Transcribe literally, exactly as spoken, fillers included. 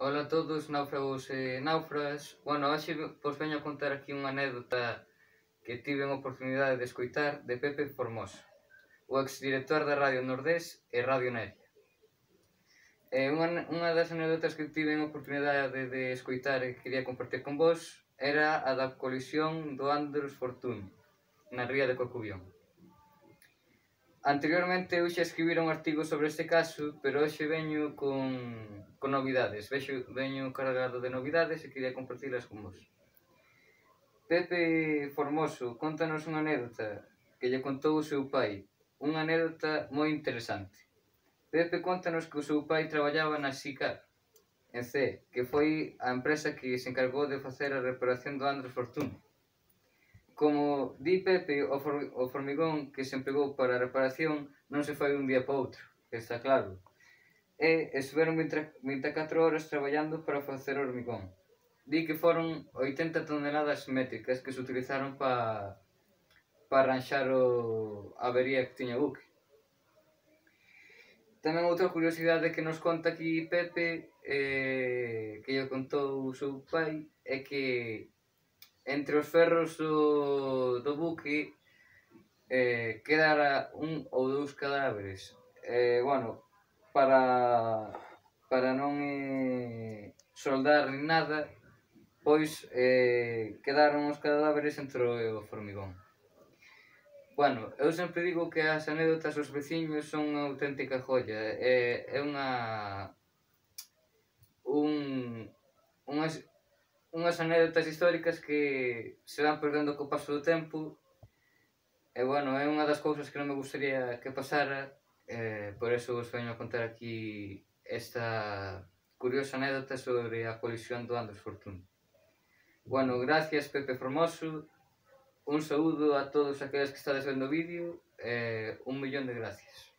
Ola a todos, náufragos e náufragas. Bueno, hoxe vos veño a contar aquí unha anécdota que tive a oportunidade de escoitar de Pepe Formoso, o exdirector da Radio Nordés e Radio Neria. E unha, unha das anécdotas que tive a oportunidade de, de escoitar e que quería compartir con vos era a da colisión do Andros Fortuny na ría de Corcubión. Anteriormente eu xa escribira un artigo sobre este caso, pero hoxe veño con, con novidades, Vexo, veño cargado de novidades e quería compartilas con vos. Pepe Formoso contanos unha anécdota que lle contou o seu pai, unha anécdota moi interesante. Pepe contanos que o seu pai traballaba na SICAR, en C, que foi a empresa que se encargou de facer a reparación do Andros Fortuny. Como di Pepe, o, for, o formigón que se empregou para a reparación non se fai un día para outro, que está claro. E estiveron vinte e catro horas traballando para facer o hormigón. Di que foron oitenta toneladas métricas que se utilizaron para pa arranxar o, a avería que tiña o buque. Tamén outra curiosidade que nos conta aquí Pepe, eh, que lle contou o seu pai, é que entre os ferros do, do buque eh, quedara un ou dous cadáveres. Eh, bueno, para, para non eh, soldar nin nada, pois eh, quedaron os cadáveres entre o formigón. Bueno, eu sempre digo que as anécdotas dos veciños son unha auténtica joya. É, é unha... un... unhas... unhas anécdotas históricas que se van perdendo co paso do tempo. E, bueno, é unha das cousas que non me gustaría que pasara, eh, por eso vos veño a contar aquí esta curiosa anécdota sobre a colisión do Andros Fortuny. Bueno, gracias Pepe Formoso, un saúdo a todos aqueles que estades vendo o vídeo, e un millón de gracias.